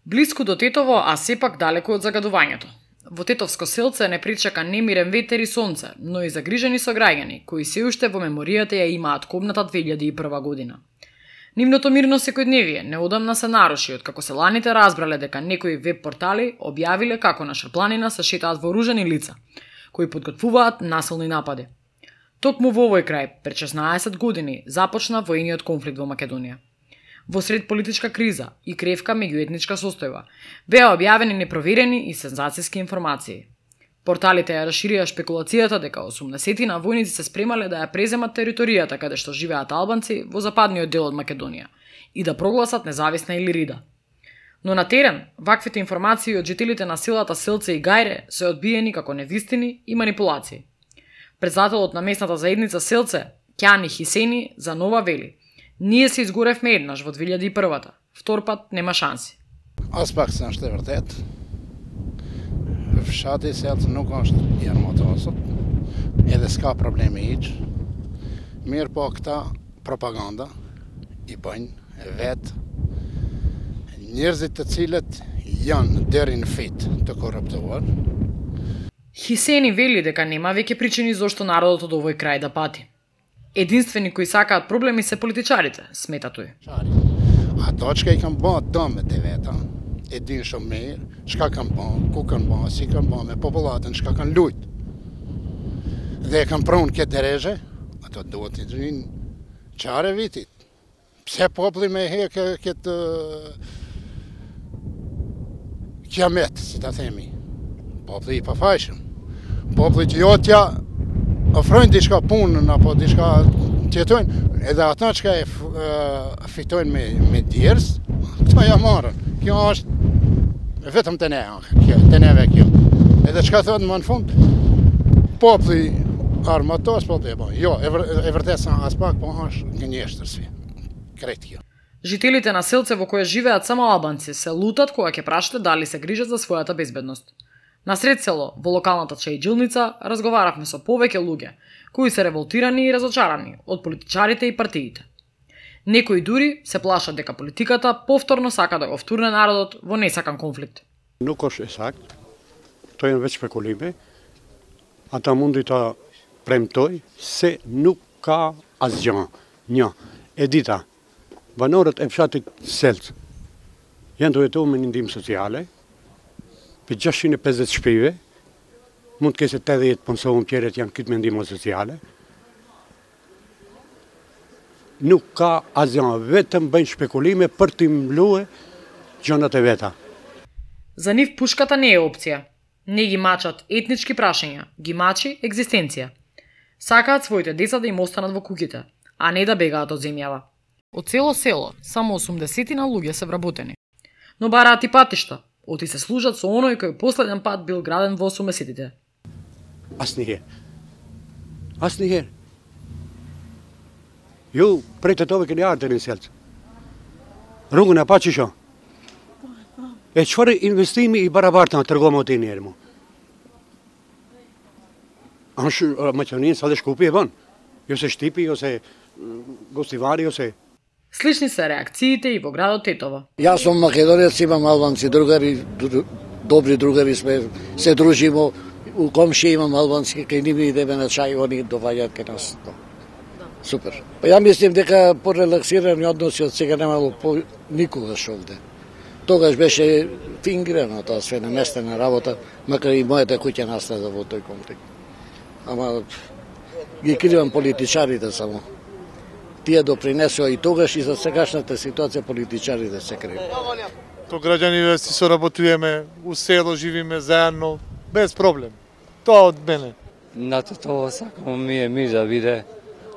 Блиску до Тетово, а сепак далеку од загадувањето. Во Тетовско селце не причека немирен ветер и сонце, но и загрижени сограѓани, кои се уште во меморијата ја имаат кобната 2001 година. Нивното мирно секојдневие неодамна се наруши откако селаните разбрале дека некои веб портали објавиле како на Шарпланина се шетаат вооружени лица, кои подготвуваат насилни напади. Токму во овој крај, пред 16 години, започна воениот конфликт во Македонија. Во сред политичка криза и кревка меѓуетничка состојба, беа објавени непроверени и сензацијски информации. Порталите ја расширија шпекулацијата дека 80 војници се спремале да ја преземат територијата каде што живеат албанци во западниот дел од Македонија и да прогласат независна Илирида. Но на терен, ваквите информации од жителите на селата Селце и Гајре се одбиени како невистини и манипулации. Председателот на местната заедница Селце, Кјани Хисени, за нова вели: "Ние се изгоревме еднаш во 2001-та, втор пат нема шанси." As pak sen është e vërtet. Fshati i Selcë nuk është i armatosur, edhe s'ka probleme hiç. Mirë po këta propaganda i bëjnë vetë njerëzit të cilët janë deri në fit të korruptuar. Хисени вели дека нема веќе причини зошто народот од овој крај да пати. Единствени кои сакаат проблеми се политичарите, смета тој. Ato që i kanë bërë dëmet e veta, e din shumë mirë, çka kanë bërë, ku kanë bërë, si kanë bërë me popullatën, çka kanë lujt. Dhe e kanë pronë këtë derezhe, ato duhet të rinë çare vitit. Pse populli me hekë këtë kiamet, si ta themi. Populli i pafajshëm. Populli që jo t'ja ofrojnë diçka punën apo diçka tjetojnë, edhe ata që e fitojnë me djerës, këta ja marrën. Kjo është vetëm të ne, të neve kjo. Edhe që ka thotë më në fund, populli armatos, populli e bojnë. Jo, e vërtet sa as pak, po është gënjeshtërsi. Krejt kjo. Жителите на селце во кое живеат само албанци се лутат кога ќе прашате дали се грижат за својата безбедност. Насред село, во локалната чајджилница, разговаравме со повеќе луѓе, кои се револтирани и разочарани од политичарите и партиите. Некои дури се плашат дека политиката повторно сака да го втурне народот во несакан конфликт. Nuk është e sakt, to janë veç spekulime, ata mundi ta premtoj se nuk ka asgjë. Një, e dita, banorët e fshatit Selcë janë të jetuar me një ndihmë sociale, për 650 shpive, mund të kese 80 punësohën tjerët janë këtë me ndihmë sociale. Nuk ka asgjë, vetëm bëjnë spekulime për të mbluar gjërat e veta. За нив пушката не е опција. Не ги мачат етнички прашања, ги мачи екзистенција. Сакаат своите деца да им останат во куќите, а не да бегаат од земјава. Од цело село, само 80 луѓе се вработени. Но бараат и патишта, оти се служат со оној кој последен пат бил граден во 80-тите. Asnjëherë. Ju prej të tove keni ardhur në Selcë. Rrugën e pa që shoh. E çfarë investimi i barabartë na tregom atë njerë mu. Është Maqedoninë sa dhe Shkupi e bën. Jo se Shtipi, ose Gostivari, ose Слични се реакциите и во градот Тетово. Јас сум македонец, имам албанци другари, добри другари сме, се дружимо, у комши имам албански, кај ними идеме на чај, они доваѓаат кај нас. Супер. Па ја мислим дека порелаксирани односи од сега немало никогаш овде. Тогаш беше фингирано тоа све наместена работа, макар и мојата куќа настада во тој конфликт. Ама ги кривам политичарите само. Тие допринесоа и тогаш и за сегашната ситуација политичарите се криви. То граѓани си соработуваме, у село живиме заедно, без проблем. Тоа од мене. На тоа сакамо ми мир да биде,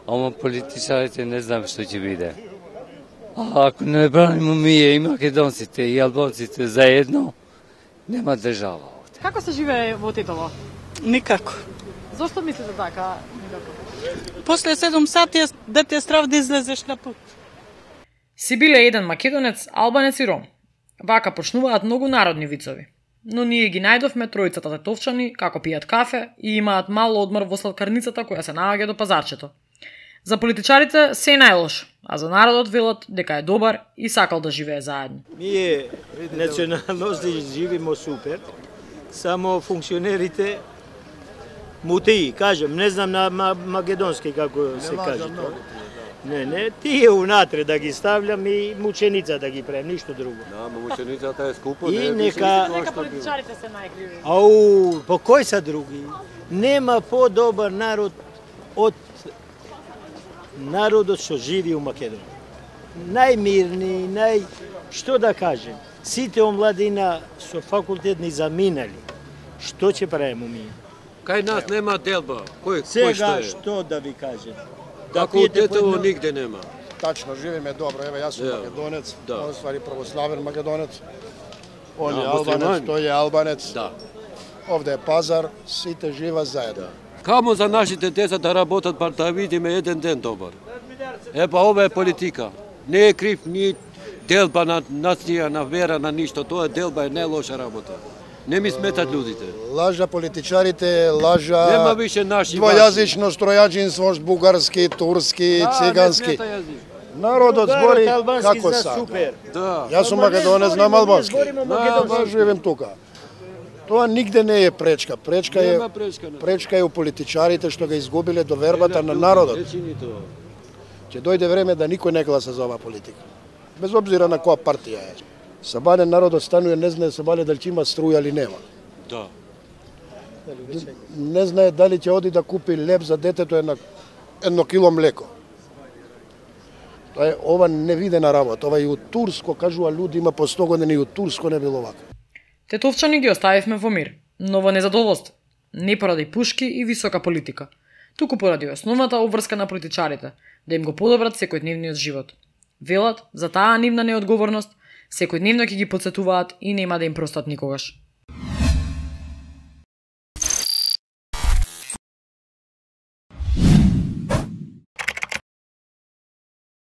ама политичарите не знам што ќе биде. А ако не бранимо ние и македонците и албанците заедно, нема држава овде. Како се живее во Тетово? Никако. Зошто мислите така? После 7 сати да те страв да излезеш на пут. Си биле еден македонец, албанец и ром. Вака почнуваат многу народни вицови. Но ние ги најдовме тројцата тетовчани како пијат кафе и имаат мал одмор во сладкарницата која се наоѓа до пазарчето. За политичарите се е најлош, а за народот велат дека е добар и сакал да живее заедно. Ние националности живимо супер, само функционерите мутеи, кажем, не знам на македонски како се каже тоа. Не, тие унатре да ги ставljam и мученица да ги правим, ништо друго. Да, мученицата е скупо, и нека политичарите се најкриви. Ау, по кој са други? Нема подобар народ од народот што живи у Македонија. Најмирни, што да кажем, сите омладина со факултет ни заминали. Што ќе правиме ние? Кај нас нема делба. Сега што да ви кажем? Факултетово нигде нема. Тачно, живеме добро. Еве, јас сум македонец, он ствари православен македонец. Он е албанец, тој е албанец. Да. Овде е пазар, сите жива заедно. Камо за нашите деца да работат, бар да видиме еден ден добар. Епа, ова е политика. Не е крив ни делба на нација, на вера, на ништо. Тоа е делба, е најлоша работа. Не ми сметат луѓите. Лажа политичарите, лажа Нема више наши двојазично стројаџинство, бугарски, турски, цигански. Народот збори како сака. Да. Јас сум македонец, знам албански. Живеем тука. Тоа нигде не е пречка. Пречка е у политичарите што ga изгубиле довербата на народот. Ќе дојде време да никој не гласа за оваа политика. Без обзира на која партија е. Сабале народот станува, не знае Сабале дали ќе има струја или нема. Да. Не знае дали ќе оди да купи леб за детето едно кило млеко. Тоа е ова невидена работа. Ова и у Турско, кажува луѓе, има по 100 години и у Турско не било вака. Тетовчани ги оставивме во мир, но во незадоволство. Не поради пушки и висока политика, туку поради основната обврска на политичарите, да им го подобрат секојдневниот живот. Велат, за таа нивна неодговорност, секојдневно ќе ги потсетуваат и нема да им простат никогаш.